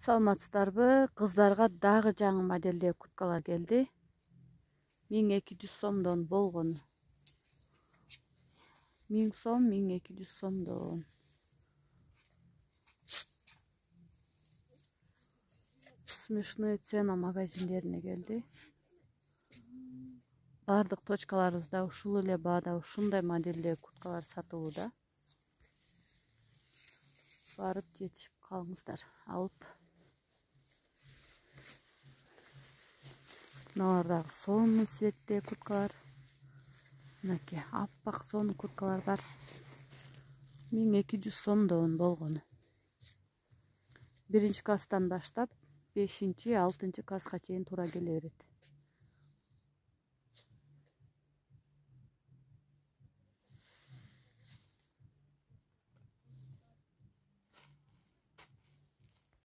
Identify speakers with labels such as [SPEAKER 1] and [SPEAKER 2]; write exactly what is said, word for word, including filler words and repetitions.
[SPEAKER 1] Саламатсыздарбы? Кыздарга дагы жаңы моделде курткалар келди. миң эки жүз сомдон болгон. миң сом, миң эки жүз сомдон. Смешные цена магазиндерине келди. Бардык точкаларыбызда ушул эле баада ушундай модельде курткалар сатылууда. Барып жетишип калыңыздар, алып. Мыналар дагы сонун цветте курткалар. Мынакей аппак сонун курткалар бар. миң эки жүз сомдон болгону. Биринчи класстан баштап бешинчи, алтынчы класска чейин туура келе берет.